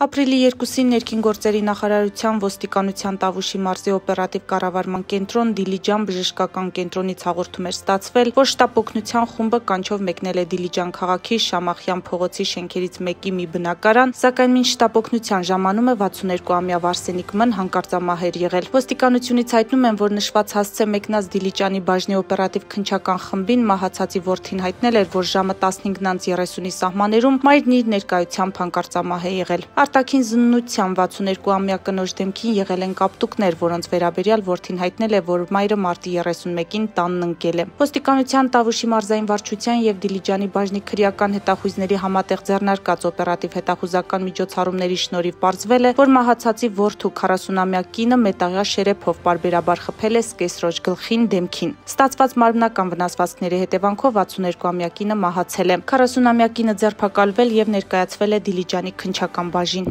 Ապրիլի 2-ին ներքին գործերի նախարարության ոստիկանության Տավուշի մարզի օպերատիվ կառավարման կենտրոն Դիլիջան բժշկական կենտրոնից հաղորդում էր ստացվել, որ շտապ օգնության խումբը կանչով մեկնել է Դիլիջան քաղաքի Շամախյան փողոցի շենքերից մեկի մի բնակարան, սակայն մինչ շտապ օգնության ժամանումը 62-ամյա Վարսենիկ Մ-ն հանկարծամահ էր եղել։ Ոստիկանությունից հայտնում են, որ նշված հասցե մեկնած Դիլիջանի բաժնի օպերատիվ քննչական խմբին մահացածի որդին հայտնել էր, որ ժամը 15:30-ի սահմաններում մայրն իր ներկայությամբ հանկարծամահ է եղել։ Արտաքին զննության 62-ամյա կնոջ դեմքին եղել են կապտուկներ, որոնց վերաբերյալ որդին հայտնել է, որ մայրը մարտի 31-ին տանն ընկել է։ Ոստիկանության Տավուշի մարզային վարչության եւ Դիլիջանի բաժնի քրեական հետախույզների համատեղ ձեռնարկած օպերատիվ հետախուզական միջոցառումների շնորհիվ պարզվել է, որ մահացածի որդու 40-ամյա կինը մետաղյա շերեփով պարբերաբար խփել է սկեսրոջ գլխին, դեմքին։ Ստացված մարմնական վնասվածքների հետևանքով 62-ամյա կինը մահացել է։ 40-ամյա կինը ձերբակալվել եւ ներկայացվել է Դիլիջանի քննչական բաժին։